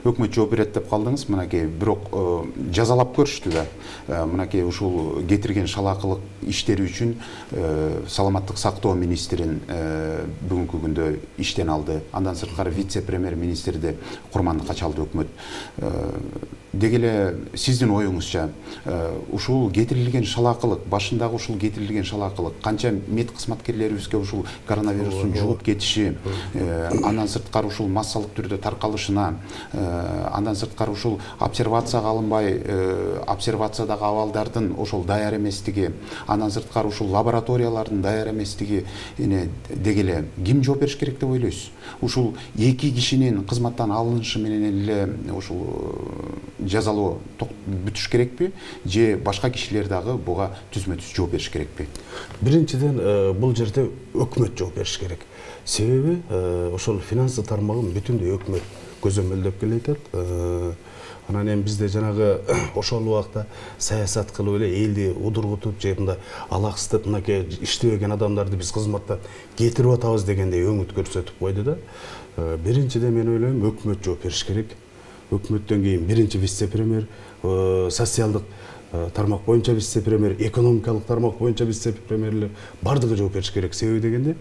өкмөт жооп берет деп калдыңыз. Мынакей бирок жазалап көрүштү да. Мынакей ушул кетирген шалаакылык иштери үчүн саламаттык сактоо министрин бүгүнкү күндө иштен алды. Андан сырткары вице-премьер министрди курмандыкка чалды өкмөт. Деги эле сиздин оюңузча ушул кетирилген шалаакылык, башындагы ушул кетирилген шалаакылык канча мед кызматкерлерибизге ушул коронавирустун жугуп кетиши, андан сырткары ушул массалык түрдө таркалышына, андан сырткары ушул обсервацияга алынбай, обсервациядагы абалдардын ошол даяр эместиги, андан сырткары ушул лабораториялардын даяр эместиги, деги эле ким жооп бериш керек деп ойлойсуз? Ушул эки кишинин кызматтан алынышы менен эле ушул жазалоо бүтүш керекпи, же башка кишилер дагы буга түзмө-түз жооп бериш керекпи? Биринчиден, бул жерде өкмөт жооп бериш керек. Себеби ошол финансы тармагын бүтүндөй өкмөт көзөмөлдөп келатат. Анан эми бизде жанагы ошол убакта саясат кылып эле элди удургутуп, же мындай алаксытып, мынакей иштебеген адамдарды биз кызматтан кетирип атабыз дегендей өңүт көрсөтүп койду да. Биринчиден мен ойлойм, өкмөт жооп бериш керек. Өкмөттөн кийин биринчи вице-премьер, социалдык тармак боюнча вице-премьер, экономикалык тармак боюнча вице-премьерлер бардыгы жооп бериш керек. Себеби дегенде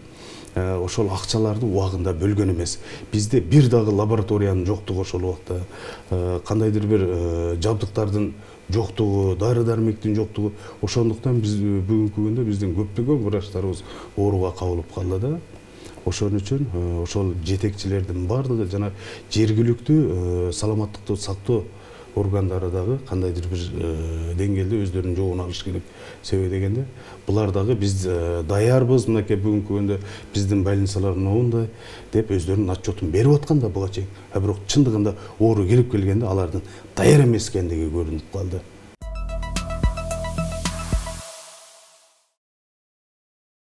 ошол акчаларды убагында бөлгөн эмес. Бизде бир дагы лабораториянын жоктугу, ошол убакта кандайдыр бир жабдыктардын жоктугу, дары-дармектин жоктугу. Ошондуктан биз бүгүнкү күндө биздин көптөгөн врачтарыбыз ооруга кабылып калды да. Ошон үчүн ошол жетекчилердин бардыгы жана жергиликтүү саламаттыкты сактоо органдары дагы кандайдыр бир деңгээлде өздөрүнүн жообун алыш керек. Себеби дегенде булар дагы биз даярбыз, мынакей бүгүнкү күндө биздин больницалар моундай деп өздөрүнүн отчетун берип аткан да буга чейин. Бирок чындыгында оору келип келгенде алардын даяр эмес экендиги көрүнүп калды.